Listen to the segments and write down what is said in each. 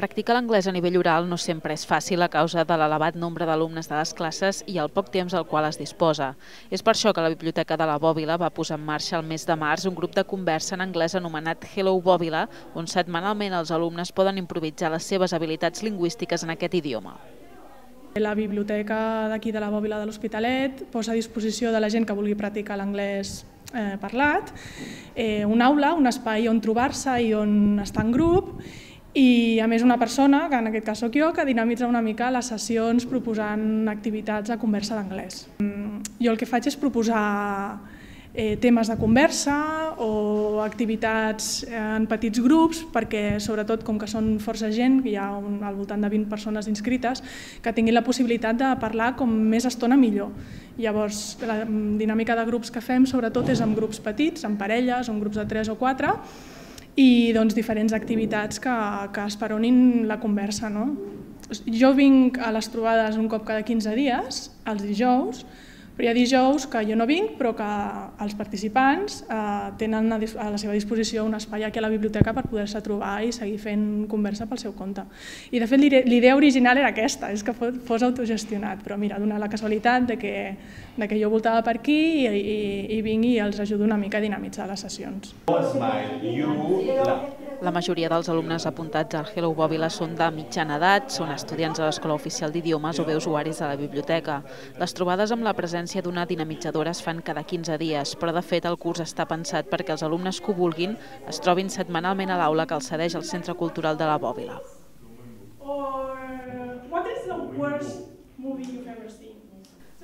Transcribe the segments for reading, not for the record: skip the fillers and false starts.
Practicar l'anglès a nivell oral no sempre és fàcil a causa de l'elevat nombre d'alumnes de les classes i el poc temps del qual es disposa. És per això que la Biblioteca de la Bòbila va posar en marxa el mes de març un grup de conversa en anglès anomenat Hello Bòbila, on setmanalment els alumnes poden improvisar les seves habilitats lingüístiques en aquest idioma. La biblioteca d'aquí de la Bòbila de l'Hospitalet posa a disposició de la gent que vulgui practicar l'anglès parlat una aula, un espai on trobar-se i on estar en grup, i a més una persona, que en aquest cas soc jo, que dinamitza una mica les sessions proposant activitats de conversa d'anglès. Jo el que faig és proposar temes de conversa o activitats en petits grups, perquè sobretot com que són força gent, que hi ha al voltant de 20 persones inscrites, que tinguin la possibilitat de parlar com més estona millor. Llavors la dinàmica de grups que fem sobretot és en grups petits, en parelles o en grups de 3 o 4, i diferents activitats que esperonin la conversa. Jo vinc a les trobades un cop cada 15 dies, els dijous, però hi ha dijous que jo no vinc, però que els participants tenen a la seva disposició un espai aquí a la biblioteca per poder-se trobar i seguir fent conversa pel seu compte. I de fet l'idea original era aquesta, és que fos autogestionat, però mira, dona la casualitat de que jo voltava per aquí i vinc i els ajudo una mica a dinamitzar les sessions. La majoria dels alumnes apuntats al Hello Bòbila són de mitjana edat, són estudiants de l'Escola Oficial d'Idiomes o bé usuaris de la biblioteca. Les trobades amb la presència d'una dinamitzadora es fan cada 15 dies, però de fet el curs està pensat perquè els alumnes que ho vulguin es trobin setmanalment a l'aula que els cedeix el Centre Cultural de la Bòbila.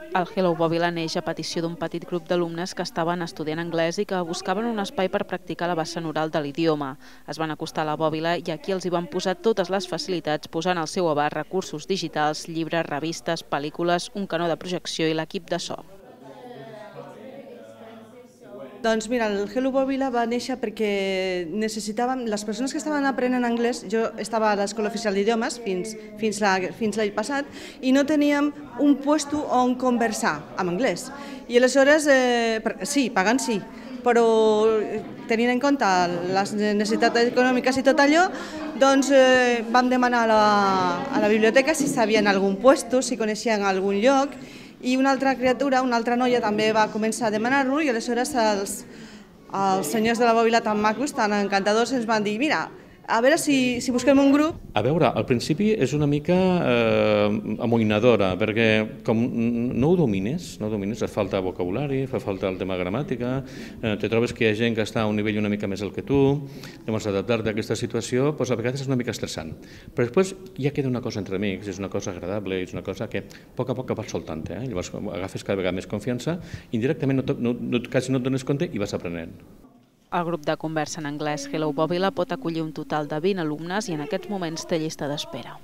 El Hello Bòbila neix a petició d'un petit grup d'alumnes que estaven estudiant anglès i que buscaven un espai per practicar la vessant oral de l'idioma. Es van acostar a la Bòbila i aquí els hi van posar totes les facilitats, posant al seu abast recursos digitals, llibres, revistes, pel·lícules, un canó de projecció i l'equip de so. Doncs mira, el Hello Bòbila va néixer perquè necessitàvem, les persones que estaven aprenent anglès, jo estava a l'Escola Oficial d'Idiomes fins l'any passat, i no teníem un puesto on conversar en anglès. I aleshores, sí, pagant sí, però tenint en compte les necessitats econòmiques i tot allò, doncs vam demanar a la biblioteca si sabien algun puesto, si coneixien algun lloc, i una altra criatura, una altra noia, també va començar a demanar-lo, i aleshores els senyors de la Bòbila tan macos, tan encantadors, ens van dir, mira, a veure si busquem un grup. A veure, al principi és una mica amoïnadora, perquè com no ho domines, et falta vocabulari, fa falta el tema gramàtica, te trobes que hi ha gent que està a un nivell una mica més alt que tu, llavors adaptar-te a aquesta situació a vegades és una mica estressant. Però després ja queda una cosa entre amics, és una cosa agradable, és una cosa que a poc a poc vas soltant, llavors agafes cada vegada més confiança, indirectament quasi no et dones compte i vas aprenent. El grup de conversa en anglès Hello Bòbila pot acollir un total de 20 alumnes i en aquests moments té llista d'espera.